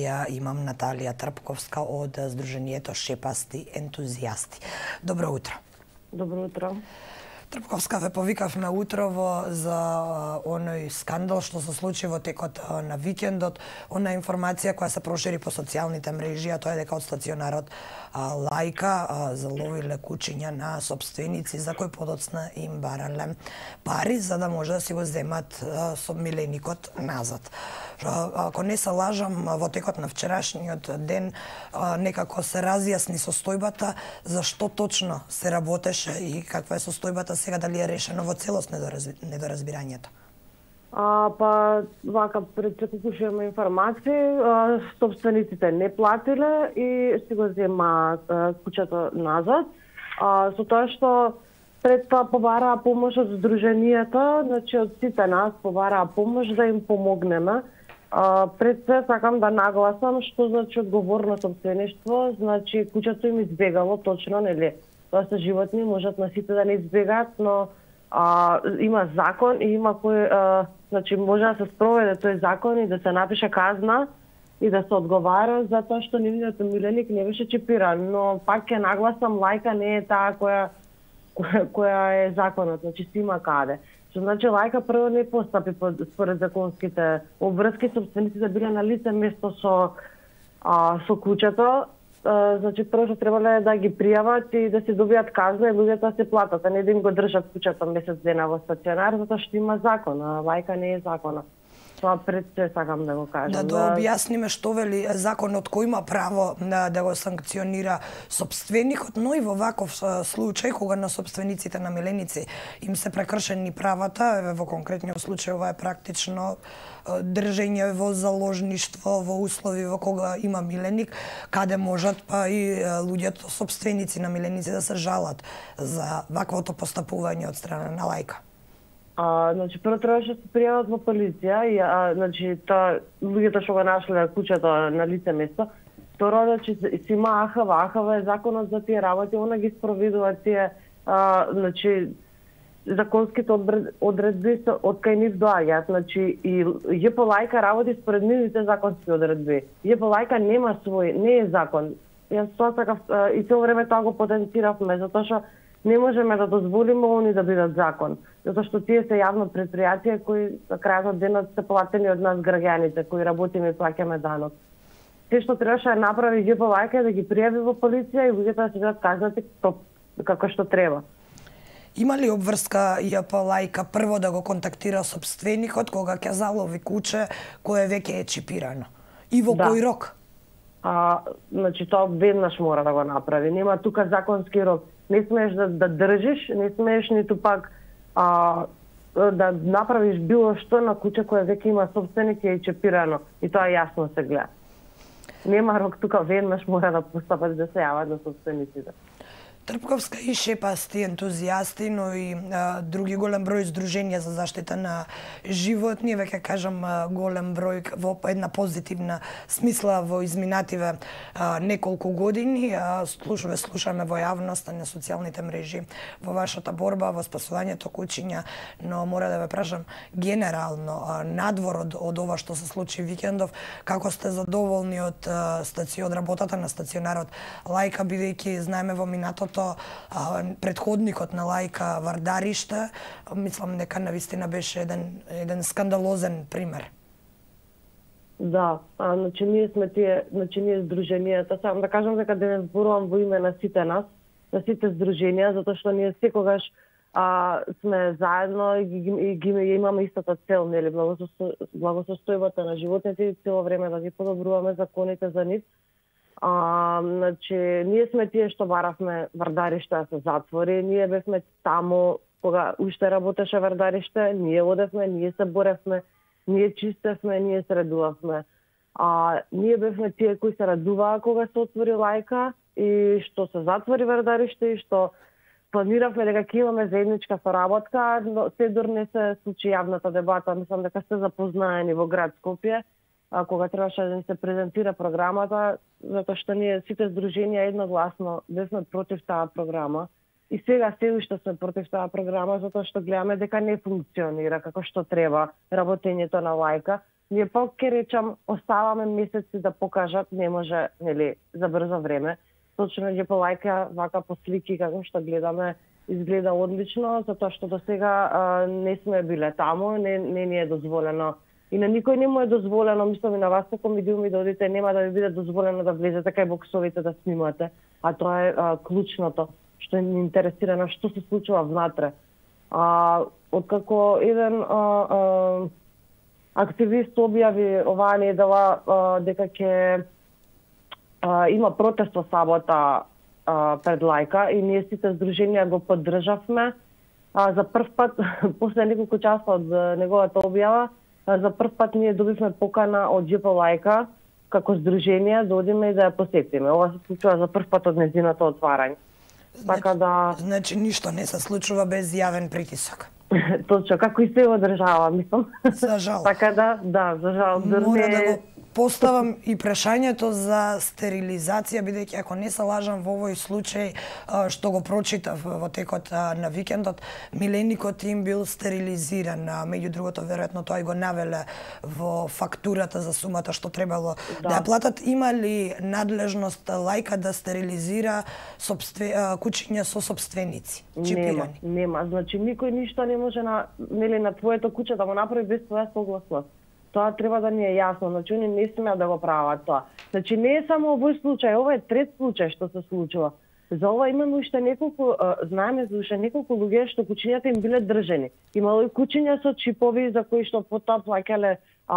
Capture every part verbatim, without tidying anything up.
Ја имам Наталија Трпковска од Сдруженијето Шепасти ентузијасти. Добро утро. Добро утро. Трпковска, ве повикавме утрово за оној скандал што се случи во текот на викендот, она информација која се прошири по социјалните мрежи, а тоа е дека од стационарот Лајка заловиле кучиња на сопственици за кои подоцна им барале пари за да може да си го земат со миленикот назад. Ако не се лажам, во текот на вчерашниот ден некако се разјасни состојбата за што точно се работеше и каква е состојбата сега, дали е решено во целост недоразбирањето? А, па, вака, пред секој имаме информации, собствениците не платиле и си го зема куќето назад. А, со тоа што пред тоа побараа помош од Сдруженијето, значи од сите нас побараа помош да им помогнеме. А, пред се сакам да нагласам што значи одговорно собствеништво, значи куќето им избегало точно, нели? Тоа се животни, можат на сите да не избегаат, но а, има закон и има кој, а, значи може да се спроведе тој закон и да се напише казна и да се одговара за тоа што нивниот миленик не беше чипиран, но пак ќе нагласам, Лајка не е таа која која, која е законот, значи си има каде. Што значи Лајка прво не постапи според законските обврски, собствениците биле на лице место со а, со куќето. Uh, значи прво што требале да ги пријават и да се добијат казна и луѓето да се платат, а не да им го држат куќата месец дена во стационар, затоа што има закон, а Лајка не е закона. Тоа пред се сакам да го кажам. Да, да објасниме што вели законот, кој има право да, да го санкционира собственикот, но и во ваков случај кога на собствениците на миленици им се прекршени правата, во конкретниот случај ова е практично држење во заложништво во услови во кога има миленик, каде можат па и луѓето собственици на миленици да се жалат за ваквото постапување од страна на Лајка. А, значи прво требаше да се пријават во полиција и а, значи тоа луѓето што го нашле куќето на лице место. Второ, значи си има А Х В, А Х В е законот за тие работи, она ги спроведува тие а, значи законските одредби од кај нив доаѓаат, значи и Ј П Лајка работи според нивните законски одредби. Ј П Лајка нема свој, не е закон. Јас тоа сакав и цело време тоа го потенциравме, затоа што не можеме да дозволиме они да бидат закон, затоа што тие се јавно предпријатија кои на крајот од денот се платени од нас граѓаните кои работиме и плаќаме данок. Се што требаше да направи Ј П Лајка е да ги пријави во полиција и луѓето да се бидат казнати како што треба. Има ли обврска Ј П Лајка прво да го контактира собственикот кога ќе залови куче кое веќе е чипирано? И во да. Кој рок? А, значи тоа веднаш мора да го направи. Нема тука законски рок. Не смееш да, да држиш, не смееш ниту пак а, да направиш било што на куќе кое веќе има собственик и е чипирано. И тоа јасно се гледа. Нема рок тука, веднаш мора да постапат да се јават на собствениците. Трпковска и Шепасти ентузијасти, но и а, други голем број здруженија за заштита на животни, веќе кажам голем број во една позитивна смисла во изминативе а, неколку години. А, слушаме, слушаме во јавноста на социјалните мрежи во вашата борба, во спасувањето кучиња, но мора да ве прашам генерално, а, надвор од, од ова што се случи викендов, како сте задоволни од стацион, од работата на стационарот Лајка, бидејќи знаеме во минатото предходникот на Лајка Вардариште, мислам дека навистина беше еден, еден скандалозен пример. Да, а, значи ние сме тие, значи ние здруженијата, сакам да кажам дека денес зборувам во име на сите нас, на сите здруженија, затоа што ние секогаш а, сме заедно и ги, и ги имаме истата цел, нели, благосостојбата на животните и цело време да ги подобруваме законите за нив. А, значи, ние сме тие што баравме Вардариште да се затвори, ние бевме таму кога уште работеше Вардариште, ние одевме, ние се боревме, ние чистевме, ние се радувавме. А, ние бевме тие кои се радуваа кога се отвори Лајка и што се затвори Вардариште и што планиравме дека ќе имаме заедничка соработка, но се дур не се случи јавната дебата, мислам дека сте запознаени во град Скопје, а, кога требаше да ни се презентира програмата, затоа што ние сите здруженија едногласно бевме против таа програма. И сега се уште сме против таа програма, затоа што гледаме дека не функционира како што треба работењето на Лајка. ние пак ќе речам, оставаме месеци да покажат, не може, нели, за брзо време. Точно ќе по лајка, вака по слики, како што гледаме, изгледа одлично, затоа што до сега не сме биле таму, не, не ни е дозволено. И на никој не му е дозволено, мислам и на вас како медиуми да одите, нема да ви биде дозволено да влезете кај боксовите да снимате, а тоа е а, клучното, што ни интересира на што се случува внатре. А, откако еден а, а, активист објави оваа недела а, дека ќе а, има протест во сабота а, пред лајка и ние сите здруженија го поддржавме. А, за прв пат, после неколку часа од неговата објава, а, за прв пат ние добивме покана од џе пе лајка како здружение да одиме и да ја посетиме. Ова се случува за прв пат од нејзиното отварање. Значи, така да... значи ништо не се случува без јавен притисок. Точно, како и се во држава, мислам. За жал. Така да, да, за жал. Мора да го поставам и прашањето за стерилизација, бидејќи ако не се лажам во овој случај што го прочитав во текот на викендот, миленикот им бил стерилизиран, меѓу другото веројатно тоа и го навеле во фактурата за сумата што требало да, да ја платат. Има ли надлежност лајка да стерилизира собстве... кучиња со собственици, чипирани? Нема, нема. Значи никој ништо не може на, нели, на твоето куче да го направи без твоја согласност. Тоа треба да ни е јасно, значи они не смеат да го прават тоа. Значи не е само овој случај, ова е трет случај што се случува. За ова имаме уште неколку, знаеме за уште неколку луѓе што кучињата им биле држени. Имало и кучиња со чипови за кои што потоа плаќале а,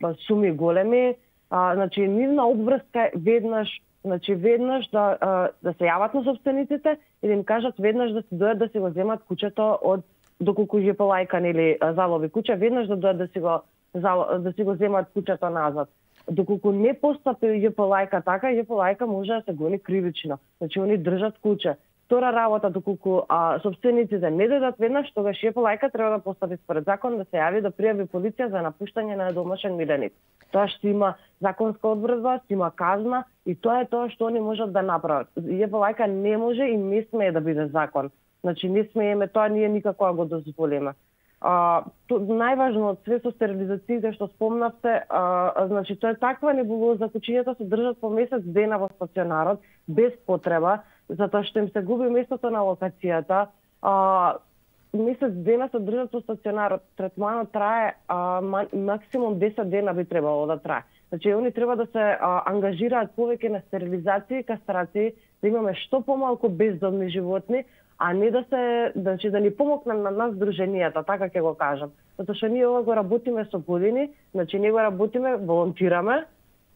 а, суми големи. А, значи нивна обврска веднаш, значи веднаш да а, да се јават на собствениците и да им кажат веднаш да си дојдат да си го земат кучето од доколку џе пе лајка нели залови куче, веднаш да дојдат да си го да си го земат кучето назад. Доколку не постапи џе пе лајка така, џе пе лајка може да се гони кривично. Значи они држат куче. Втора работа, доколку а, собствениците не дојдат веднаш, тогаш џе пе лајка треба да постапи според закон да се јави да пријави полиција за напуштање на домашен миленик. Тоа што има законска одредба, што има казна и тоа е тоа што они можат да направат. џе пе лајка не може и не смее да биде закон. Значи не смееме тоа, ние никако го дозволиме. А, то, најважно од све со стерилизациите што спомнавте, а, значи тоа е таква небулоза, кучињата се држат по месец дена во стационарот без потреба, затоа што им се губи местото на локацијата. А, месец дена се држат во стационарот, третманот трае а, максимум десет дена би требало да трае. Значи они треба да се а, ангажираат повеќе на стерилизација и кастрација, да имаме што помалку бездомни животни, а не да се, значи да ни помогне на нас здруженијата, така ќе го кажам. Затоа што ние ова го работиме со години, значи ние го работиме, волонтираме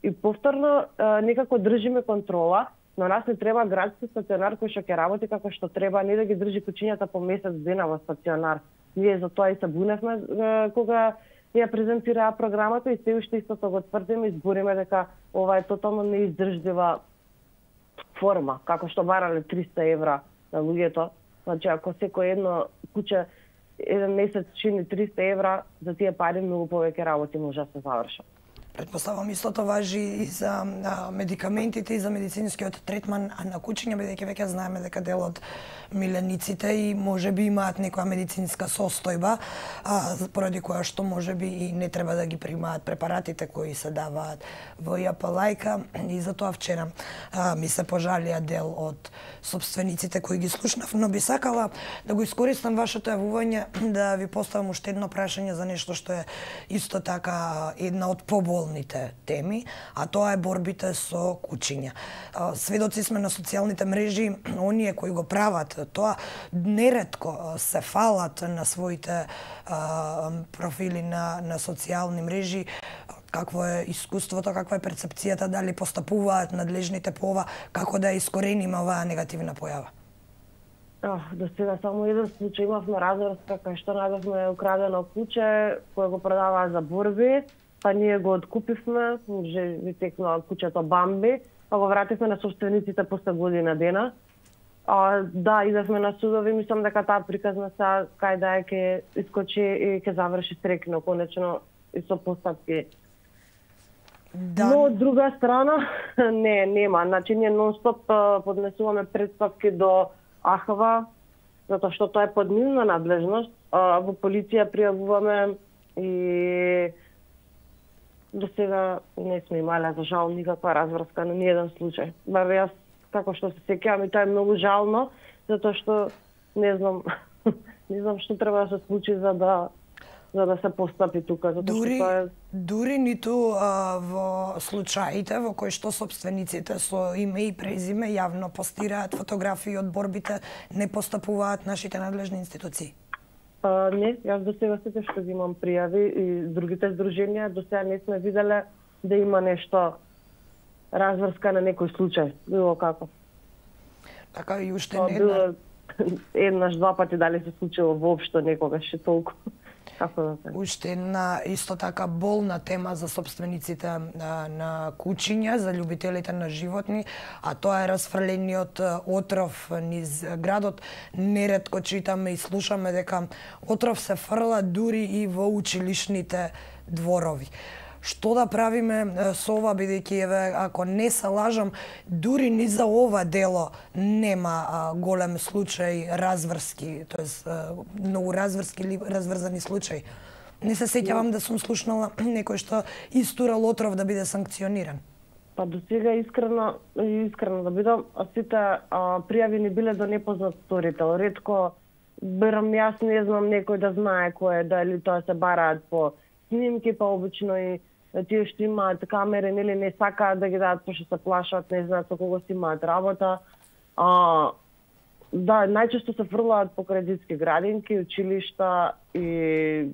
и повторно а, некако држиме контрола, но нас не треба градски стационар кој што ќе работи како што треба, не да ги држи кучињата по месец дена во стационар. Ние за тоа и се буневме а, кога ја презентираа програмата и се уште истото го тврдиме и збориме дека ова е тотално неиздржлива форма, како што барале триста евра на луѓето. Значи, ако секој едно куче еден месец чини триста евра, за тие пари многу повеќе работи може да се завршат. Предпоставам истото важи и за а, медикаментите и за медицинскиот третман на кучиња, бидејќи веќе знаеме дека дел од милениците и можеби имаат некоја медицинска состојба, а, поради која што можеби и не треба да ги примаат препаратите кои се даваат во џе пе лајка. И затоа вчера а, ми се пожалија дел од собствениците кои ги слушнав, но би сакала да го искористам вашето јавување да ви поставам уште едно прашање за нешто што е исто така една од поболните теми, а тоа е борбите со кучиња. Сведоци сме на социјалните мрежи, оние кои го прават тоа неретко се фалат на своите а, профили на, на социјални мрежи. Какво е искуството, каква е перцепцијата, дали постапуваат надлежните по ова, како да искорениме оваа негативна појава? Oh, до сега само еден случај имавме разврска кај што најдовме украдено куче кое го продаваа за борби, па ние го откупивме, може ви текнува кучето Бамби, па го вративме на собствениците после година дена. А, да, идевме на судови, мислам дека таа приказна са кај да е ќе искочи и ќе заврши срекно, конечно и со постапки. Да. Но од друга страна, не, нема. Значи, ние нон-стоп поднесуваме претпатки до А Х В, затоа што тоа е под нивна надлежност. Во полиција пријавуваме и до сега не сме имале за жал никаква разврска на ниеден случај. Бар јас како што се сеќавам и тоа е многу жално, затоа што не знам не знам што треба да се случи за да за да се постапи тука, затоа дури, што тоа е дури ниту а, во случаите во кои што собствениците со име и презиме јавно постираат фотографии од борбите, не постапуваат нашите надлежни институции. А, не, јас до сега сите што ги имам пријави и другите здруженија до сега не сме виделе да има нешто разврска на некој случај, било како. Така и уште не една еднаш, два пати дали се случило воопшто некогаш и толку. Како да се. Уште една исто така болна тема за собствениците на, на кучиња, за љубителите на животни, а тоа е расфрлениот отров низ градот. Неретко читаме и слушаме дека отров се фрла дури и во училишните дворови. Што да правиме со ова, бидејќи еве, ако не се лажам, дури ни за ова дело нема а, голем случај разврски, тоест многу разврски или разврзани случаи. Не се сеќавам да сум слушнала некој што истурал отров да биде санкциониран. Па до сега искрено, искрено да бидам, сите а, пријави ни биле до непознат сторител. Ретко берам јас, не знам некој да знае кој е, дали тоа се бараат по снимки, па обично и тие што имаат камери, нели не сакаат да ги дадат пошто се плашат, не знаат со кого си имаат работа. А, да, најчесто се фрлаат покрај детски градинки, училишта и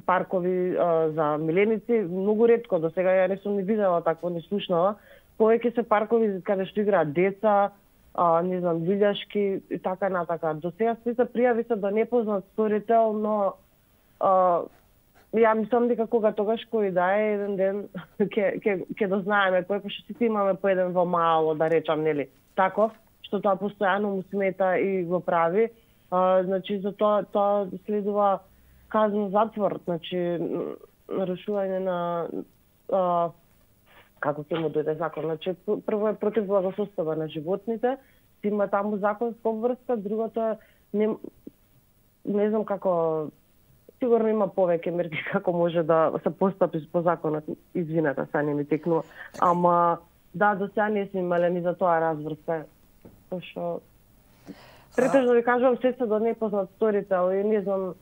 паркови а, за миленици. Многу ретко, до сега ја не сум ни видела такво, не слушнала. Повеќе се паркови каде што играат деца, а, не знам, вилјашки и така натака. До сега сите пријави се до непознат сторител, но а, ја мислам дека кога тогаш кој да е еден ден ќе ќе ќе дознаеме кој, пошто сите имаме по еден во мало, да речам, нели, таков, што тоа постојано му смета и го прави. А, значи за тоа тоа следува казна затвор, значи нарушување на а, како ќе му дојде закон. Значи прво е против благосостојба на животните, има таму законска обврска, другото е не не знам како, сигурно има повеќе мерки како може да се постапи по законот. Извинете, са не ми текнува. Ама да, до сега не сме имале ни за тоа разврска. Пошто претежно ви кажувам, се се до непознат сторител и не знам,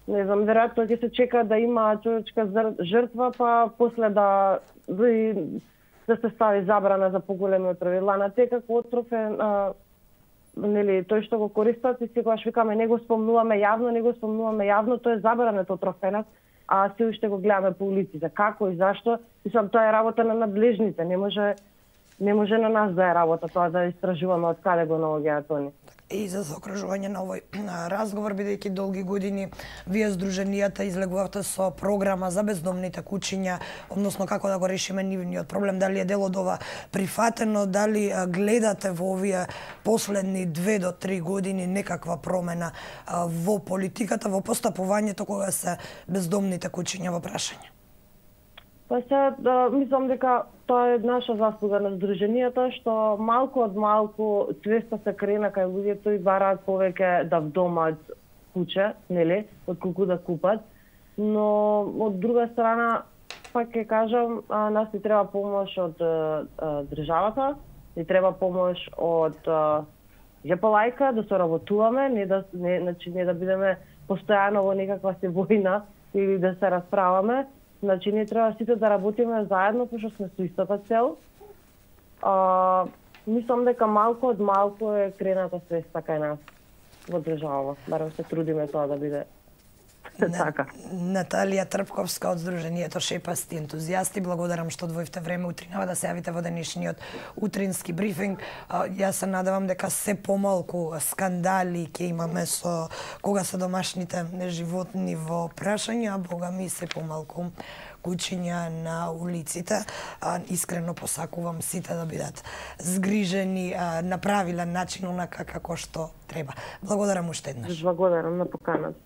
не знам, веројатно ќе се чека да има човечка жртва, па после да да, да се стави забрана за поголеми отрови. Ланата како отров е а, нели, тој што го користат и секогаш викаме не го спомнуваме јавно, не го спомнуваме јавно, тоа е забранет отров кај нас, а се уште го гледаме по улиците. Како и зашто? Мислам, тоа е работа на надлежните, не може не може на нас да е работа тоа да истражуваме од каде го наоѓаат они. И за заокружување на овој разговор, бидејќи долги години вие здруженијата излегувавте со програма за бездомните кучиња, односно како да го решиме нивниот проблем, дали е дел од ова прифатено, дали гледате во овие последни две до три години некаква промена во политиката, во постапувањето кога се бездомните кучиња во прашање? Па се, да, мислам дека тоа е наша заслуга на здруженијата, што малку од малку свеста се крена кај луѓето и бараат повеќе да вдомат куче, нели, отколку да купат. Но од друга страна, пак ќе кажам, а, нас ни треба помош од а, државата, ни треба помош од џепалајка, да соработуваме, не да не, значи не да бидеме постојано во некаква се војна или да се расправаме. Значи, ние треба сите да работиме заедно, пошто сме со истата цел. А, мислам дека малку од малку е крената свеста кај нас во држава. Барем се трудиме тоа да биде така. Наталија Трпковска од Здруженијето Шепасти ентузијасти, благодарам што одвоивте време утринава да се јавите во денешниот утрински брифинг. Јас се надевам дека се помалку скандали ќе имаме со кога се домашните животни во прашање, а бога ми се помалку кучиња на улиците. А, искрено посакувам сите да бидат згрижени а, на правилен начин, онака како што треба. Благодарам уште еднаш. Благодарам на поканата.